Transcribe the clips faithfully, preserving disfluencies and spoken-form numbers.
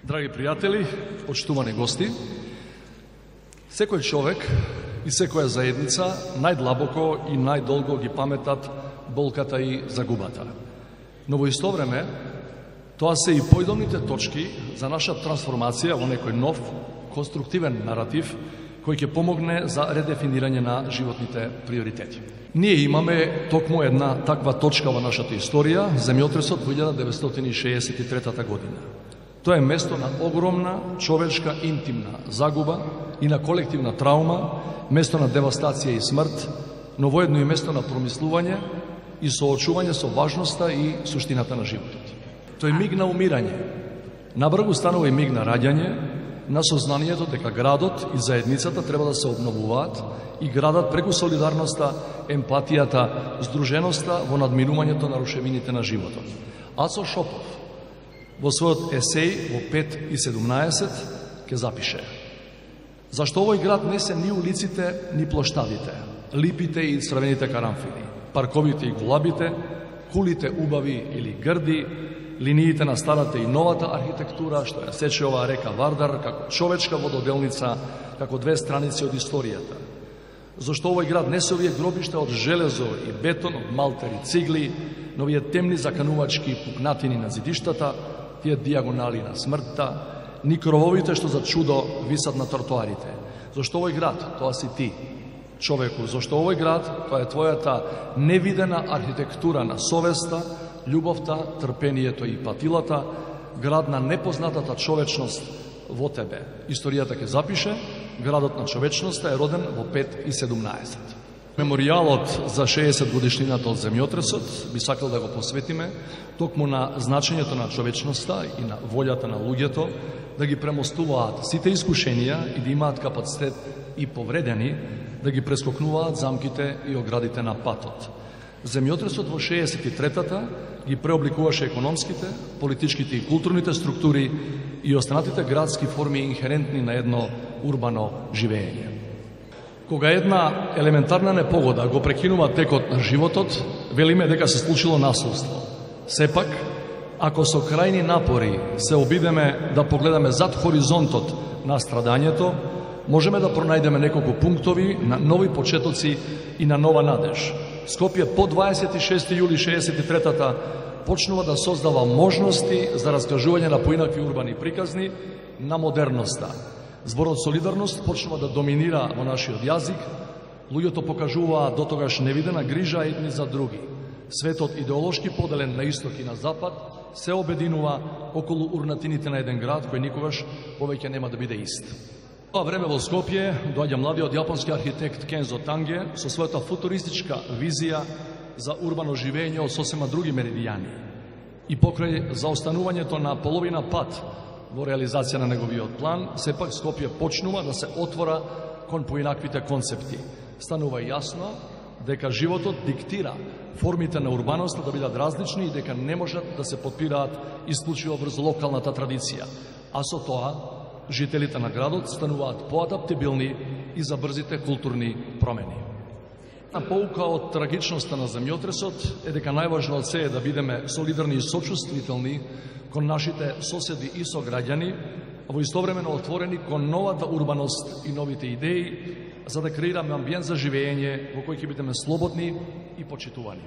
Драги пријатели, почитувани гости, секој човек и секоја заедница најдлабоко и најдолго ги паметат болката и загубата. Но во исто време, тоа се и појдовните точки за наша трансформација во некој нов, конструктивен наратив кој ќе помогне за редефинирање на животните приоритети. Ние имаме токму една таква точка во нашата историја, земјотресот во илјада деветстотини шеесет и трета година. Тоа е место на огромна човечка интимна загуба и на колективна траума, место на девастација и смрт, но воедно и место на промислување и соочување со важноста и суштината на животот. Тој миг на умирање, набрзо станува и миг на раѓање, на сознанието дека градот и заедницата треба да се обновуваат и градат преку солидарноста, емпатијата, здруженоста во надминувањето на рушевините на животот. Ацо Шопов во својот есеј во пет и седумнаесет ќе запише: зашто овој град не се ни улиците, ни плоштадите, липите и црвените карамфили, парковите и голабите, кулите убави или грди, линиите на старата и новата архитектура, што ја сече оваа река Вардар, како човечка вододелница, како две страници од историјата. Зашто овој град не се овие гробишта од железо и бетон, од малтери цигли, но овие темни заканувачки пукнатини на зидиштата, тие диагонали на смртта, ни крововите што за чудо висат на тротоарите. Зашто овој град, тоа си ти, човеку, зашто овој град, тоа е твојата невидена архитектура на совеста, љубовта, трпението и патилата, град на непознатата човечност во тебе. Историјата ќе запише, градот на човечноста е роден во пет и седумнаесет. Меморијалот за шеесет годишнината од земјотресот би сакал да го посветиме токму на значењето на човечноста и на волјата на луѓето да ги премостуваат сите искушенија и да имаат капацитет и повредени да ги прескокнуваат замките и оградите на патот. Земјотресот во шеесет и третата ги преобликуваше економските, политичките и културните структури и останатите градски форми инхерентни на едно урбано живење. Кога една елементарна непогода го прекинува текот на животот, велиме дека се случило насилство. Сепак, ако со крајни напори се обидеме да погледаме зад хоризонтот на страдањето, можеме да пронајдеме неколку пунктови на нови почетоци и на нова надеж. Скопје по дваесет и шести јули шеесет и третата почнува да создава можности за раскажување на поинакви урбани приказни на модерноста. Зборот солидарност почнува да доминира во нашиот јазик, луѓето покажуваат дотогаш невидена грижа едни за други. Светот идеолошки поделен на исток и на запад се обединува околу урнатините на еден град кој никогаш повеќе нема да биде ист. Тоа време во Скопје доаѓа младиот јапонски архитект Кензо Танге со својата футуристичка визија за урбано живење од сосема други меридијани. И покрај заостанувањето на половина пат во реализација на неговиот план, сепак Скопје почнува да се отвора кон поинаквите концепти. Станува јасно дека животот диктира формите на урбаноста да бидат различни и дека не можат да се подпираат исклучиво врз локалната традиција, а со тоа жителите на градот стануваат поадаптибилни и за брзите културни промени. На поука од трагичноста на земјотресот е дека најважно од се е да бидеме солидарни и сочувствителни кон нашите соседи и сограѓани, а во истовремено отворени кон новата урбаност и новите идеи, за да креираме амбиент за живење во кој ќе бидеме слободни и почитувани.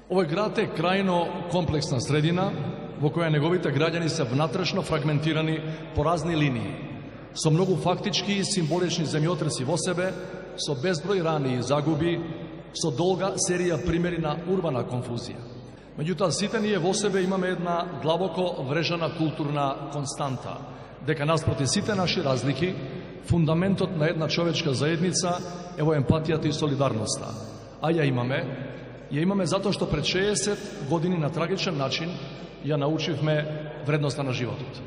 Овој град е крајно комплексна средина во која неговите граѓани се внатрешно фрагментирани по разни линии, со многу фактички и символични земјотреси во себе, со безброј рани и загуби, со долга серија примери на урбана конфузија. Меѓутоа, сите ние во себе имаме една длабоко врежана културна константа, дека наспроти сите наши разлики, фундаментот на една човечка заедница е во емпатијата и солидарноста. А ја имаме, ја имаме затоа што пред шеесет години на трагичен начин ја научивме вредноста на животот.